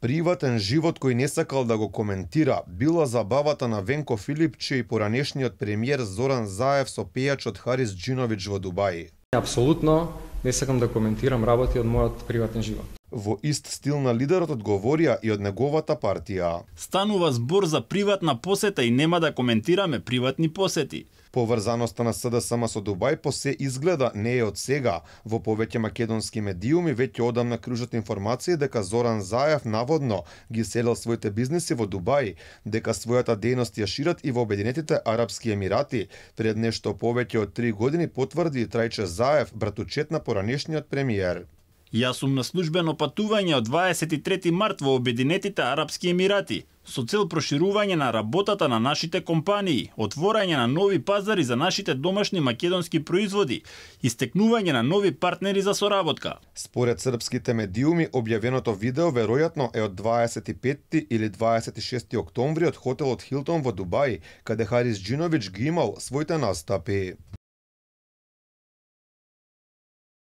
Приватен живот кој не сакал да го коментира била забавата на Венко Филипче и поранешниот премиер Зоран Заев со пејачот Харис Џиновиќ во Дубај. Апсолутно не сакам да коментирам работи од мојот приватен живот. Во ист стил на лидерот одговорија и од неговата партија. Станува збор за приватна посета и нема да коментираме приватни посети. Поврзаноста на СДСМ со Дубај по се изгледа не е од сега. Во повеќе македонски медиуми веќе одамна кружат информации дека Зоран Заев наводно ги селел своите бизниси во Дубај, дека својата дејност ја шират и во Обединетите Арапски Емирати. Пред нешто повеќе од 3 години потврди Трајче Заев, братучет на поранешниот премиер. Јас сум на службено патување од 23 март во Обединетите Арапски Емирати со цел проширување на работата на нашите компании, отворање на нови пазари за нашите домашни македонски производи и стекнување на нови партнери за соработка. Според српските медиуми, објавеното видео веројатно е од 25 или 26 октомври од хотелот Хилтон во Дубај, каде Харис Џиновиќ ги имал своите настапи.